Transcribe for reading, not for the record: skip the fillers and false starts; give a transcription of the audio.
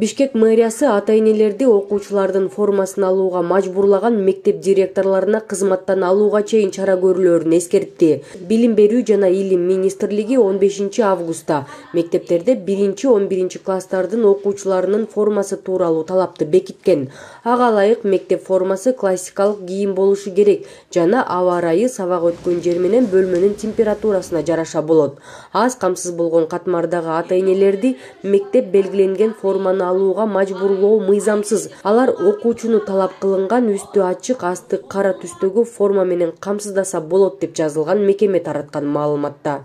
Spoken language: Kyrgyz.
Бишкек мэриясы ата-энелерди окуучулардын формасын алууга мажбурлаган мектеп директорлоруна кызматтан алууга чейин чара көрүлөрүн эскертти. Билим берүү жана илим министрлиги 15 августта мектептерде 1-11 класстардын окуучуларынын формасы тууралуу талапты бекиткен. Ага ылайык мектеп формасы классикалык кийим болушу керек жана аба ырайы сабак өткөн жер менен бөлмөнүн температурасына жараша болот. Аз камсыз болгон катмардагы ата-энелерди мектеп белгиленген форманы алууга мажбурлоо мыйзамсыз. Алар окуучуну талап кылынган үстү ачык, асты кара түстөгү форма менен камсыздаса болот деп жазылган мекеме тараткан маалыматта.